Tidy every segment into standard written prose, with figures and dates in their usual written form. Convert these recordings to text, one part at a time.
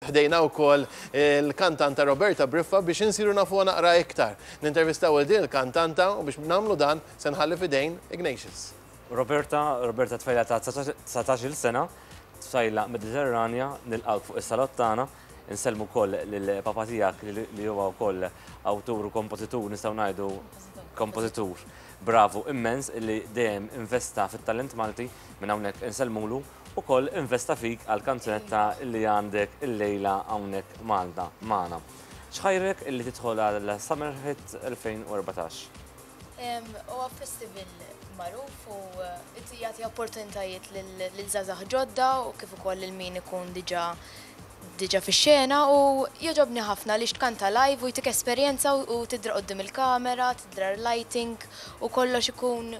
Ħdejna wkoll il-kantanta Roberta Briffa biex insiru nafuha naqra iktar. Nintervistaw lil din il-kantanta u biex nagħmlu dan se nħalli f'idejn Ignatius. Roberta, Roberta tfajla ta' 19-il sena, tfajla Mediterranja, nilqgħuk fuq is-salott tagħna. Insellmu wkoll lill-papa tiegħek li huwa wkoll awtur u kompożitur nistgħu ngħidu kompożitur bravu immens li dejjem investa fit-talent Malti minn hawnhekk insellmulu. Ukoll investa fik għall-kanzunetta li għandek illejla hawnhekk Malta magħna. X'ħajrek illi tidħol għal Summer Hit 2014? Huwa festival magħruf u jagħti opportunitajiet lil żgħażagħ ġodda u kif ukoll lil min ikun diġà diġà fix-xena u jogħġobni ħafna għaliex tkanta live u jtik esperjenza u tidra quddiem il-kamera, tidra l-lighting u kollox ikun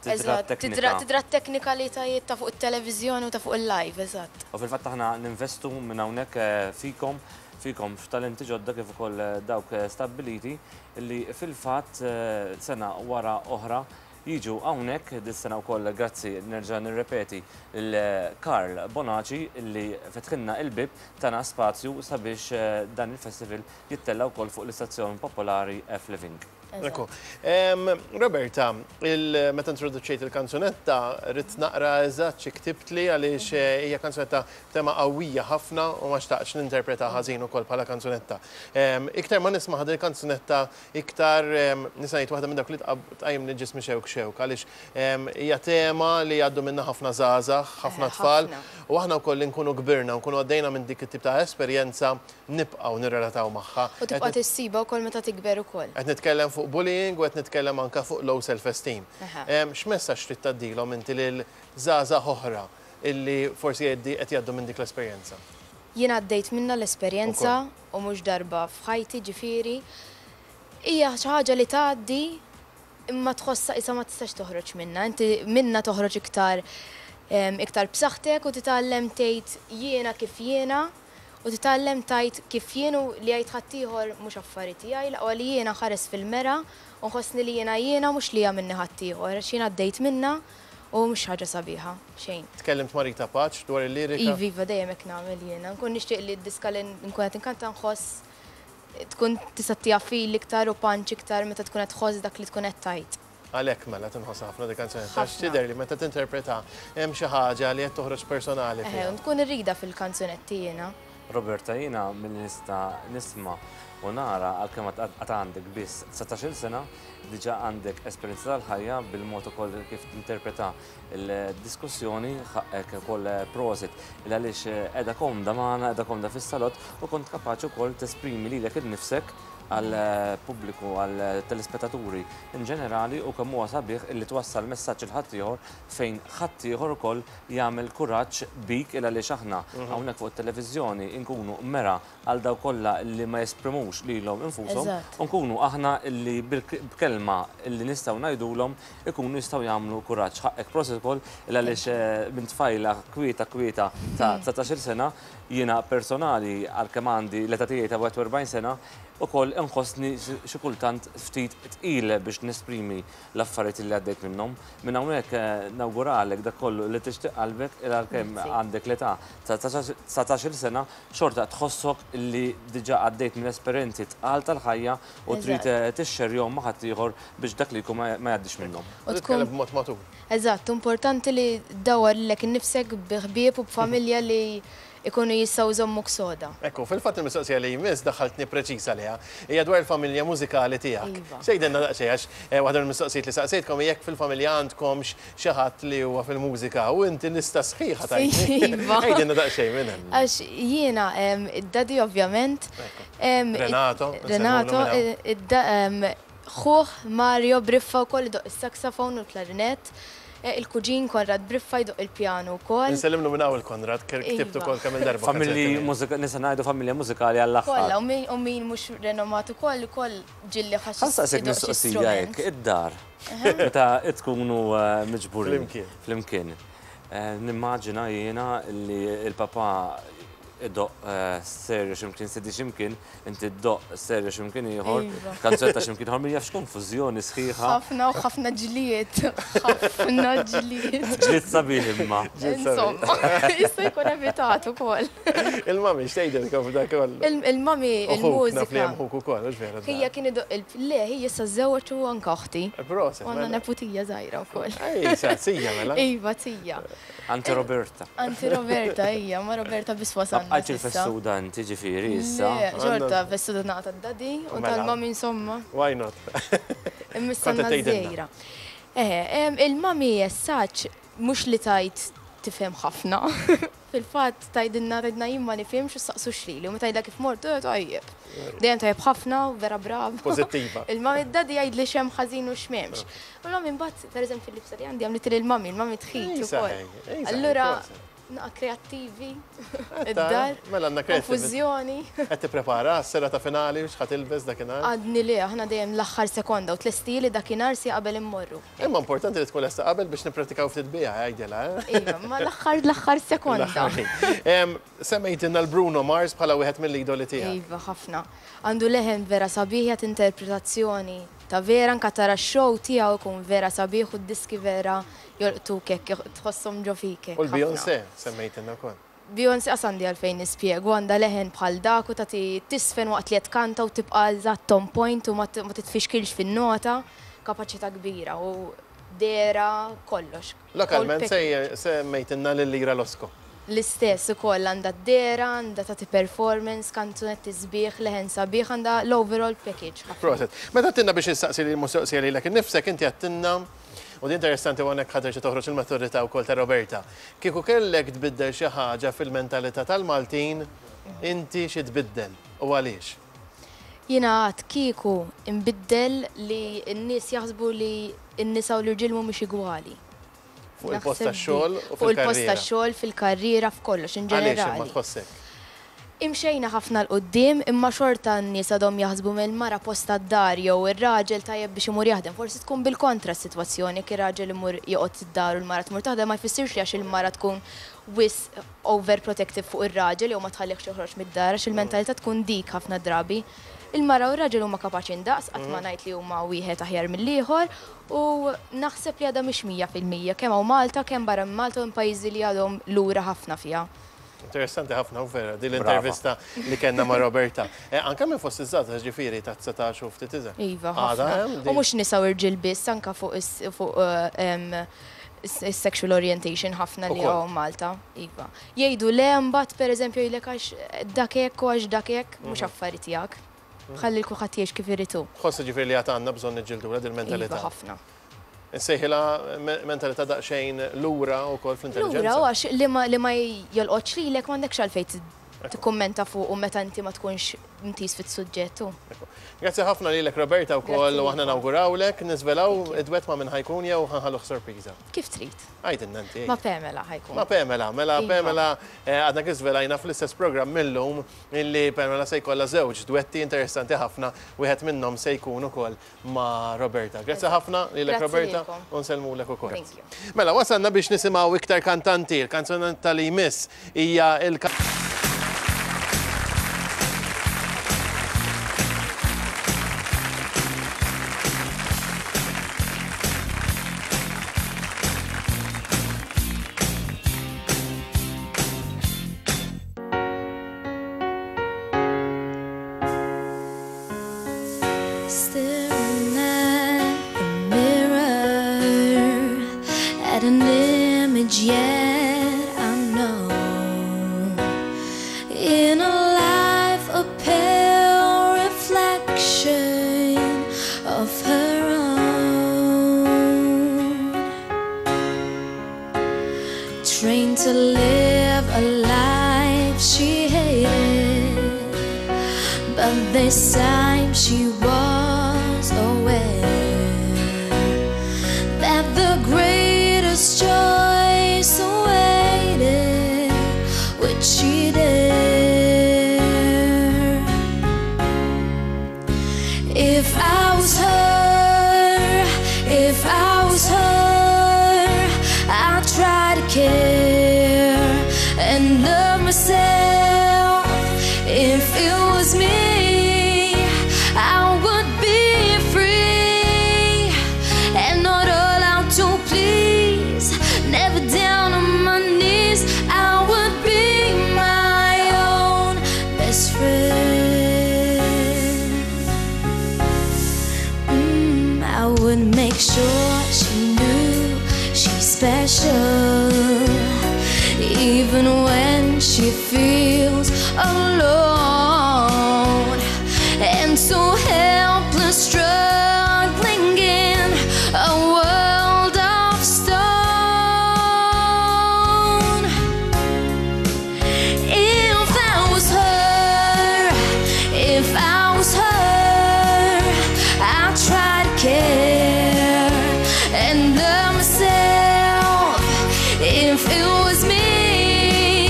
Tidra t-teknika. Tidra t-teknikalitajiet ta' fuq it-televiżjoni u ta' fuq il-live, eżatt. U fil-fatt aħna ninvestu minn hawnhekk fikom, fikom f'talenti ġodda kif ukoll dawk stabbiliti li fil-fatt sena wara oħra jiġu hawnhekk, dis-sena wkoll grazzi nerġa' nirrepeti lil Karl Bonaci li fetħilna l-bieb tana spazju sabiex dan il-festival jittella' wkoll fuq l-istazzjon popolari F-Living. Ekku. Roberta, meta introduċejt il-kanzunetta, ridt naqra eżatt xi ktibtli għaliex hija kanzunetta b'tema qawwija ħafna u ma xtaqtx ninterpreta ħażin ukoll bħala kanzunetta. Iktar ma nisma' din il-kanzunetta, iktar nista' ngħid waħda minn dawk li tqajjimli ġismi xewk xewk għaliex hija tema li jgħaddu minnha ħafna żgħażagħ, ħafna tfal u aħna wkoll li nkunu kbirna u nkunu għaddejna minn dik it-tip ta' esperjenza nibqgħu nirrelataw magħha. U tibqa' tissibha wkoll meta tikber ukoll. Qed nitkellem fuq bullying u qed nitkellem anke fuq low self-esteem. X'messaġġ trid tgħaddilhom inti lil żgħażagħ oħra illi forsi qed jgħaddu minn dik l-esperjenza? Jien għaddejt minnha l-esperjenza u mhux darba f'ħajti ġifieri. Hija xi ħaġa li tgħaddi imma tħossha qisha ma tistax toħroġ minnha. Inti minnha toħroġ iktar iktar b'saħħtek u titgħallem tgħid jiena kif jiena u titgħallem tgħid kif jien u li jgħid ħaddieħor mhux affari tiegħi, l-aqwa li jiena nħares fil-mera u nħossni li jiena jiena mhux li jagħmilni ħaddieħor għax jiena għaddejt minnha u mhux ħaġa sabiħa xejn. Tkellimt ma' Rita Pace dwar il-lirika? Iva, iva, dejjem hekk nagħmel jiena. Nkun nixtieq li d-diska li nkun qed inkanta nħoss tkun tista' ttiha feel iktar u punch iktar meta tkun qed tħoss dak li tkun qed tgħid. Għalhekk mela tinħossha ħafna dik kanzunetta għax tidher li meta tinterpreta hemm xi ħaġa li qed toħroġ personali fiha. Eħe, u tkun irridha fil-kanzunetti jiena. Roberta jiena milli nista' nisma' u nara għalkemm għad għandek biss 19-il sena diġà għandek esperjenza tal-ħajja bil-mod ukoll kif tinterpreta l-diskussjoni ħaqqek ukoll prosit il għaliex qiegħda komda magħna, qiegħda komda fis-salott u kont kapaċi wkoll tesprimi lilek innifsek għall-pubbliku, għall-telespettaturi in ġenerali u kemm huwa sabiħ illi twassal messaġġ il ħaddieħor fejn ħaddieħor ukoll jagħmel kuraġġ bik il għaliex aħna hawnhekk fuq it-televiżjoni nkunu mera għal dawk kollha li ma jesprimux lilhom infushom u nkunu aħna li b'kelma li nistgħu ngħidulhom ikunu jistgħu jagħmlu kuraġġ. Ħaqqek prosit ukoll il għaliex minn tfajla kwieta kwieta ta' 19-il sena jiena personali għalkemm għandi l-età tiegħi ta' 41 sena ukoll inħossni xi kultant ftit tqil biex nesprimi l-affarijiet li għaddejt minnhom. Minn hawnhekk nawguralek dak kollu li tixtieq qalbek il għalkemm għandek l-età ta' 19-il sena xorta tħossok li diġà għaddejt minn esperjenzi tqal tal-ħajja u trid tixxerjhom ma' ħaddieħor biex dak li jkun ma jgħaddix minnhom. U titkellem b'mod matur. Eżatt, importanti li ddawwar lilek innifsek bi ħbieb u b'familja li jkunu jistgħu jżommuk soda. Ekku, fil-fatt il-mistoqsija li jmiss daħħaltni preċiż għaliha. Hija dwar il-familja mużikali tiegħek. Iva. X'tgħidilna daqsxejn għax waħda mill-mistoqsijiet li saqsejtkom hi jekk fil-familja għandkomx xi ħadd li huwa fil-mużika u inti lista sħiħa tajtni. Iva. Għidilna daqsxejn minn hemm. Għax jiena id-daddy ovvjament. Renato. Renato, ħuh Mario Briffa wkoll idoqq is-saxophone u l-klarinett. Il-kuġin Konrad Briffa jdoqq il-pjanu wkoll. Insellimlu minn hawn il-Konrad, ktibt ukoll kemm-il darba. Familji mużikali, nista' ngħidu familja mużikali għall-aħħar. Kollha, u min mhux renomat ukoll, ukoll ġieli ħa xi Ħa nsaqsik mistoqsija hekk, id-dar. Meta tkunu miġburin. Flimkien. Flimkien. Nimmaġina jiena li l-papà. Idoqq stereo x'imkien, CD x'imkien, inti ddoqq stereo x'imkien ieħor, kanzunetta x'imkien ieħor, min jaf x'konfużjoni sħiħa. Ħafna u ħafna ġlied, ħafna ġlied. Ġlied sabiħ imma. Insomma, jista' jkun evitat ukoll. Il-mami x'tgħidilkom f'dak kollu? Il-mami, il-mużika. Naf li hemm ħuk ukoll, hux vera? Ħija kien idoqq il le, ħija issa żżewweġ u anke oħti. Proset. U għandna neputija żgħira wkoll. Ej, sa tija mela. Iva, tija. Anti Roberta. Anti Roberta, ija, ma Roberta biss wasalna. Għajt il-festuda inti ġifieri issa. Le, xorta festuda naqta d-dadi u Mela. tal-mami insomma. Why not? Imma Kont qed tgħidilna. żejra. Eh, il-mami jessaċ mhux li tajt tifhem ħafna. Fil-fatt tgħidilna tgħidna jien ma nifhimx u saqsux lili u meta tgħidlha kif mort, eh, tajjeb. Dejjem tajjeb ħafna u vera brav. Pożittiva. Il-mami d-daddy jgħidli x'hemm ħażin u x'm'hemmx. U l-mami mbagħad, pereżempju, il-libsa li għandi għamlet lil-mami, il-mami tħit Ej, ukoll. saħej, ej, saħej, Allura proset. naqa' kreattivi, Etta, id-dar, Mela għandna kreattività. konfużjoni. Qed tipprepara s-serata finali u x'ħa tilbes dakinhar. Għadni le, aħna dejjem l-aħħar sekonda u tlestili dakinhar si qabel immorru. Imma importanti li tkun lesta qabel biex nippratikaw ftit biha, għidilha, eh? Iva, ma l-aħħar l-aħħar sekonda. Semmejtilna l-Bruno Mars bħala wieħed mill-idoli tiegħek. Iva, ħafna. Għandu leħen vera sabiħ jagħti interpretazzjoni ta' vera anka tara x-show tiegħu jkun vera sabiħ u d-diski vera jolqtuk hekk, tħosshom ġo fik hekk U ħafna. l-Beyoncé semmejtilna wkoll. Beyoncé qas għandi għalfejn nispjegu, għandha leħen bħal dak u tagħti tisfen waqt li qed tkanta u tibqa' eżatt on point u ma titfixkilx fin-nota, kapaċità kbira u dehra kollox. Lokalment Whole package. semmejtilna lil Lira Losco. L-istess ukoll għandha d-dehra, għandha tagħti performance, kanzunetti sbieħ, leħen sabiħ, għandha l-overall package ħafna. Proset. Meta għedtilna biex issaqsi li mistoqsija lilek innifsek inti għedtilna, u di interessanti u hawnhekk ħa terġa' toħroġ il-maturità wkoll ta' Roberta. Kieku kellek tbiddel xi ħaġa fil-mentalità tal-Maltin, inti xi tbiddel u għaliex? Jiena għad kieku nbiddel li n-nies jaħsbu li n-nisa u l-irġiel mhumiex igwali. Fuq il-post Naħseb tax-xogħol di. u Fuq il-post fil-karriera. tax-xogħol, fil-karriera, f'kollox, in Għaliex imma ġenerali. tħossek? Imxejna ħafna 'l quddiem imma xorta n-nies għadhom jaħsbu mill-mara posta d-dar jew ir-raġel tajjeb biex imur jaħdem. Forsi tkun bil-kontra s-sitwazzjoni, jekk ir-raġel imur joqgħod id-dar u l-mara tmur taħdem ma jfissirx li għax il-mara tkun wisq overprotective fuq ir-raġel jew ma tħallihx joħroġ mid-dar għax il-mentalità tkun dik ħafna drabi. Il-mara u r-raġel huma kapaċi ndaqs, qatt ma ngħid li huma wieħed aħjar mill-ieħor u naħseb li għadha mhix 100% kemm hawn Malta, kemm barra minn Malta u hemm pajjiżi li għadhom lura ħafna fiha. Interessanti ħafna u vera din l-intervista li kellna ma' Roberta. Anke minn fost iż-żgħażagħ ġifieri ta' 19 u ftit iżgħar. Iva, Għadha ħafna. hemm U din. mhux nisa u rġiel biss, anke fuq fuq is-sexual orientation ħafna li Ukoll. hawn Malta. Iva. Jgħidu le mbagħad pereżempju jgħidlek għax dak hekk u għax dak hekk, mhux affari tiegħek. Ħalli l-kulħadd jgħix kif irid hu. Tħoss ġifieri li għad għandna bżonn niġġildula din Iva, il-mentalità. ħafna. Insejħilha mentalità daqsxejn lura wkoll fl-intelligenza. Lura u għax li ma li ma jolqotx lilek m'għandekx għalfejn tikkummenta fuq u meta inti ma tkunx intis fis-suġġett. Grazzi ħafna lilek Roberta wkoll Grazzi u aħna lilkom. nawgurawlek, niżvelaw Thank you. id-dwett ma' min ħa jkun jew ħa nħalluh sorpriża. Kif trid? Għidilna inti. Ma' Pamela ħa jkun. Ma' Pamela, mela Iva. Pamela għadna kif żvelajna fl-istess programm millum illi Pamela se jkollha żewġ dwetti interessanti ħafna, wieħed minnhom se jkun ukoll ma' Roberta. Grazzi ħafna lilek Grazzi Roberta lilkom. u nsellmulek ukoll. Thank you. Mela wasalna biex nisimgħu iktar kantanti, il-kanzunetta li jmiss hija il Staring at the mirror, at an image yet unknown. In a life, a pale reflection of her own. Trained to live a life she hated. But this time she was aware that the greatest choice awaited, which she dare. If I was her, if I was her, I'd try to care and love myself. friend. I would make sure she knew she's special, even when she feels alone and so helpless, struggling in a world of stone. If I was her, if I was her, I'd try to care and love myself. If it was me,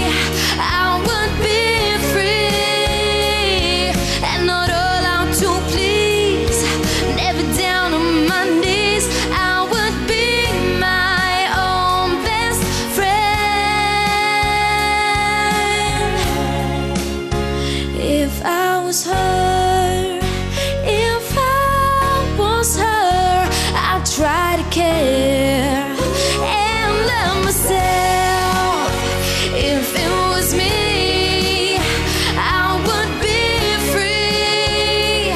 I would be free and not all out to please. Never down on my knees. I would be my own best friend. If I was her, if I was her, I'd try to care and love myself. If it was me, I would be free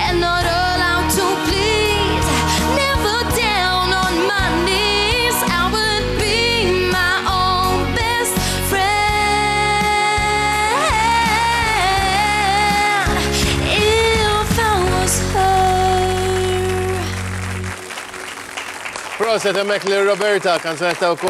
and not all out to please. Never down on my knees. I would be my own best friend. If I was her. Proset hemmhekk lil Roberta, kanzunetta wkoll.